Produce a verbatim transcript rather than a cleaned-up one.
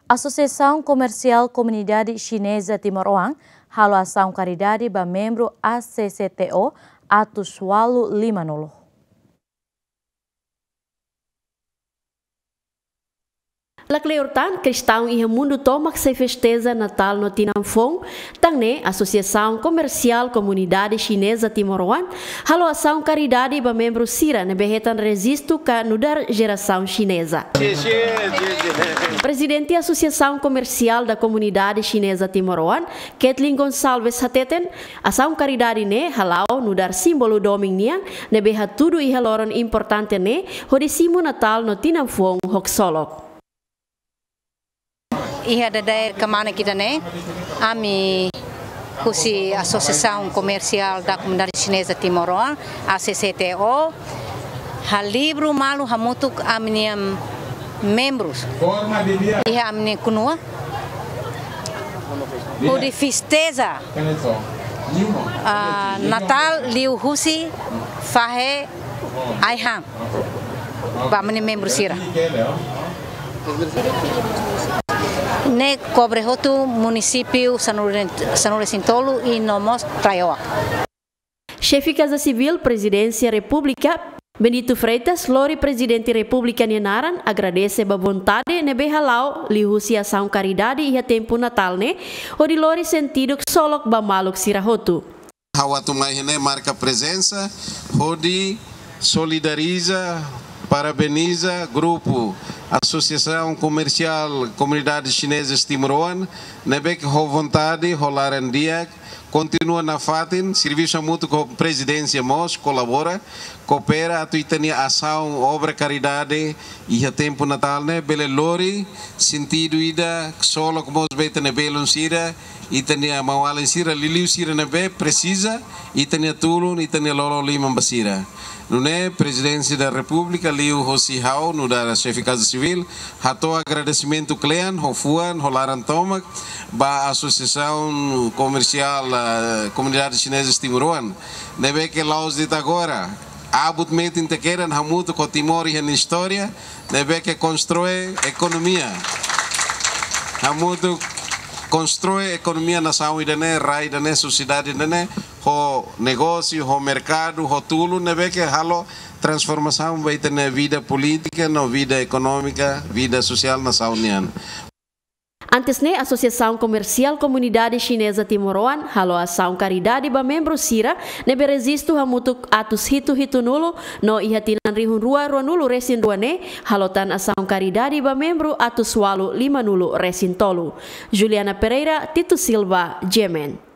Asosiasaun Komersiál Komunidade Xineza Timoroan halo asaun karidade ba membru A C C T O atus ualu lima nulu. Lakleur tan, kristaun iha mundu tomak sei festeza Natál no tinan foun, tan ne'e Asosiasaun Komersiál Komunidade Xineza Timoroan halo asaun karidade ba membru sira ne'ebé hetan rejistu ka nu'udar jerasaun xineza. Prezidente Asosiasaun Komersiál da Komunidade Xineza Timoroan, Kathleen Gonçalves hateten, asaun karidade ne'e hala'o nu'udar símbolu domin nian ne'ebé hatudu iha loron importante ne'e hodi simu Natál no tinan foun ho ksolok. Iha dadeer kmanek ida-ne'e, ami husi Asosiasaun Komersiál da Komunidade Xineza Timoroan, A C C T O, halibur malu hamutuk ami-nia membrus iha ami-nia kunua hodi festeza, ah, Natál liuhusi fahe ai-han ba ami-nia membru sira. Ne'e kobre hotu munisípiu sanulu, sanulu-resin-tolu i no mós TRAIOA. Xefe Kaza Sivíl Prezidénsia Repúblika, Bendito Freitas, lori Prezidente Repúblika nia naran agradese ba vontade ne'ebé hala'o liuhusi asaun karidade iha tempu Natál ne'e, hodi lori sentidu ksolok ba maluk sira hotu. Ha'u atu mai iha-ne'e marka prezensa hodi solidariza, parabeniza grupu Asosiasaun Komersiál Komunidade Xineza Timoroan, ne'ebé ke ho vontade, ho laran di'ak, kontinua nafatin, servisu hamutuk ho Prezidénsia mós, kolabora, koopera atu ita-nia asaun obra karidade iha tempu Natál ne'e bele lori sentidu ida ksolok mós ba ita-nia belun sira, ita-nia maun-alin sira, liuliu sira ne'ebé presiza ita-nia tulun, ita-nia lolo liman ba sira. Nune'e Prezidénsia da Repúblika liuhosi ha'u nu'udar Xefe Kaza Sivíl hato'o agradesimentu kle'an ho fuan, ho laran tomak ba Asosiasaun Komersiál, eh, Komunidade Xineza Timoroan, ne'ebé ke la'ós de'it agora, abut metin te kedan hamutuk ho Timor iha nia istória, ne'ebé ke konstrui ekonomia. Hamutuk konstrui ekonomia nasaun ida-ne'e, rai ida-ne'e, sosiedade ida-ne'e, ho negósiu, ho merkadu, ho tulun, ne'ebé ke halo transformasaun ba ita-nia vida polítika, no vida ekonómika, vida sosiál nasaun nian. Antes ne'e, Asosiasaun Komersiál Komunidade Xineza Timoroan halo asaun karidade ba membru sira ne'ebé rejistu hamutuk atus hitu hitunulu, no iha tinan rihun rua ruanulu-resin-rua ne'e halo tan asaun karidade ba membru atus ualu limanulu-resin-tolu. Juliana Pereira, Tito Silva, G M N.